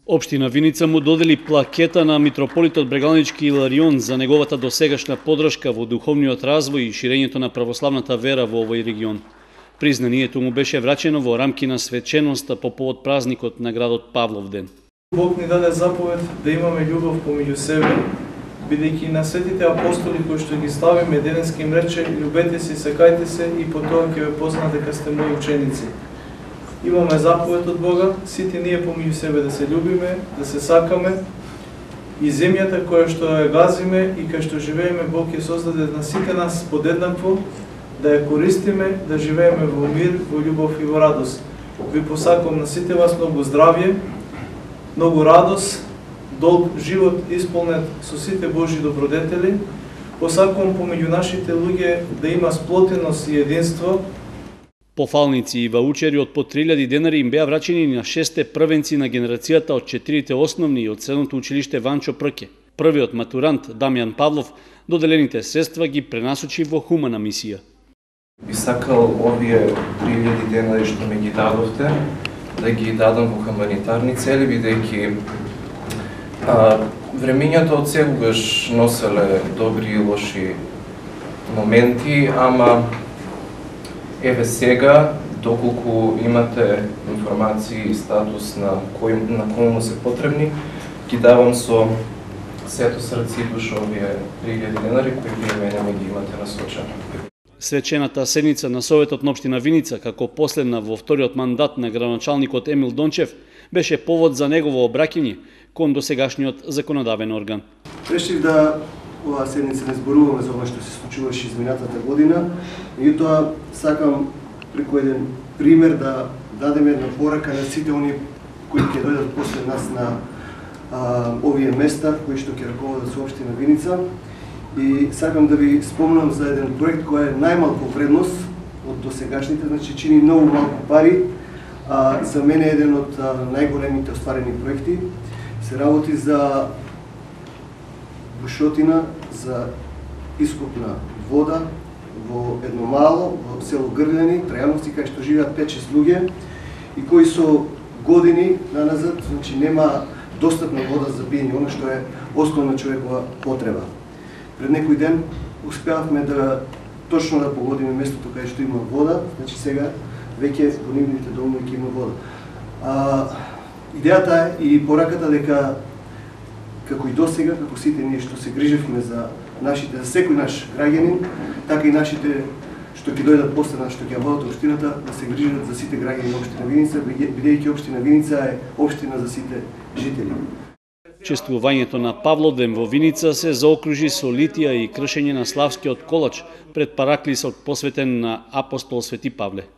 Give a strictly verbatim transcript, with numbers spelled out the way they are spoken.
Општина Виница му додели плакета на митрополитот Брегалнички Иларион за неговата досегашна подршка во духовниот развој и ширењето на православната вера во овој регион. Признанието му беше врачено во рамки на свеченоста по повод празникот на градот Павловден. Бог ни даде заповед да имаме љубов помеѓу себе, бидејќи на светите апостоли кои што ги славиме денеска им рече: "Љубете се, сакајте се и по тоа ќе ве познаат дека сте мои ученици." Имаме заповед од Бога, сите ние помеѓу себе да се љубиме, да се сакаме, и земјата која што ја газиме и кај што живееме Бог ќе создаде на сите нас подеднакво, да ја користиме, да живееме во мир, во љубов и во радост. Ви посакувам на сите вас многу здравје, многу радост, долг живот исполнет со сите Божји добродетели. Посакувам помеѓу нашите луѓе да има сплотеност и единство. Пофалници и ваучери од по три илјади денари им беа врачени на шесте првенци на генерацијата од четирите основни и од средното училиште Ванчо Прке. Првиот матурант Дамјан Павлов доделените средства ги пренасочи во хумана мисија. Би сакал овие три илјади денари што ми ги дадовте да ги дадам во хуманитарни цели, бидејќи времењата од секогаш носеле добри и лоши моменти, ама еве сега, доколку имате информации и статус на кој на кому се потребни, ги давам со сето срце и душа овие три илјади денари кои вие мене ми ги имате насочени. Свечената седница на Советот на општина Виница, како последна во вториот мандат на градоначалникот Емил Дончев, беше повод за негово обраќање кон досегашниот законодавен орган. Решив да оваа седница не зборуваме за ова што се случуваше изминатата година, меѓутоа сакам преку еден пример да дадеме една порака на сите оние кои ќе дојдат после нас на а, овие места кои што ќе раководат со општина Виница. И сакам да ви спомнам за еден проект кој е најмалку вредност од досегашните, значи чини многу малку пари, а за мене е еден од најголемите остварени проекти. Се работи за бушотина за ископ на вода во едно мало, во село Грљани, Трајановци, кај што живеат пет-шест луѓе и кои со години наназад, значи нема достапна вода за пиење, она што е основна човекова потреба. Пред некој ден успеавме да точно да погодиме местото кај што има вода, значи сега веќе во нивните домови ќе има вода. А, идејата е и пораката дека како и досега, како сите ние што се грижевме за нашите, за секој наш граѓанин, така и нашите што ќе дојдат после нас, што ќе водат општината, да се грижат за сите граѓани на општина Виница, бидејќи општина Виница е општина за сите жители. Чествувањето на Павловден во Виница се заокружи со литија и кршење на славскиот колач пред параклисот посветен на апостол Свети Павле.